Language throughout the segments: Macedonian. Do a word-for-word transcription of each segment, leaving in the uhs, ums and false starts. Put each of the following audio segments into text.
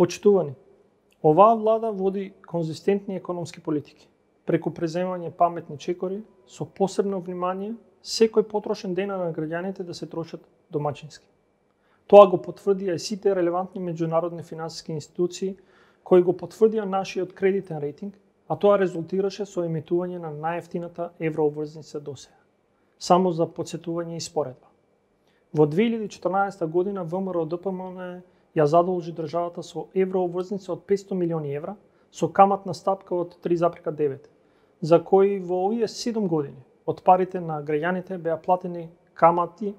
Почитувани, оваа влада води конзистентни економски политики, преку преземање паметни чекори, со посебно внимание секој потрошен ден на граѓаните да се трошат домачински. Тоа го потврдија и сите релевантни меѓународни финансиски институции кои го потврдија нашиот кредитен рейтинг, а тоа резултираше со емитување на најевтината еврообврзница досега. Само за потсетување и споредба. Во две илјади и четрнаесетта година ВМРО-ДПМН ја задолжи државата со еврообврзница од петстотини милиони евра со каматна стапка од три запирка девет, за кои во овие седум години од парите на граѓаните беа платени камати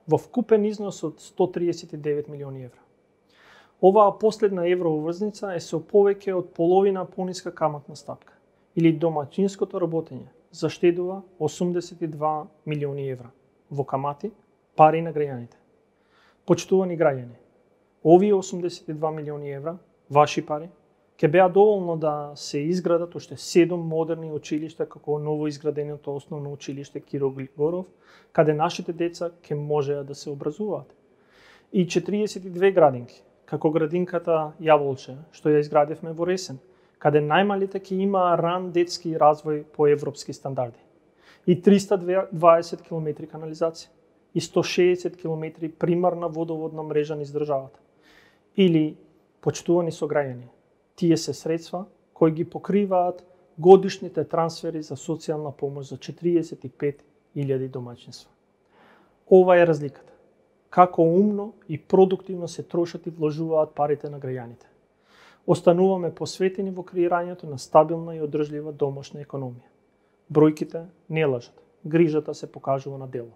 во вкупен износ од сто триесет и девет милиони евра. Оваа последна еврообврзница е со повеќе од половина пониска каматна стапка, или домачинското работење заштедува осумдесет и два милиони евра во камати, пари на граѓаните. Почитувани граѓани, овие осумдесет и два милиони евра, ваши пари, ќе беа доволно да се изградат уште седум модерни училишта како ново изграденото основно училиште Киро Глигоров, каде нашите деца ќе можеа да се образуваат. И четириесет и две градинки, како градинката Јаволче, што ја изградивме во Ресен, каде најмалите ќе имаа ран детски развој по европски стандарди. И триста и дваесет километри канализација, и сто шеесет километри примарна водоводна мрежа низ државата. Или, почитувани сограѓани, тие се средства кои ги покриваат годишните трансфери за социјална помош за четириесет и пет илјади домаќинства. Ова е разликата. Како умно и продуктивно се трошат и вложуваат парите на граѓаните. Остануваме посветени во креирањето на стабилна и одржлива домашна економија. Бројките не лажат, грижата се покажува на дело.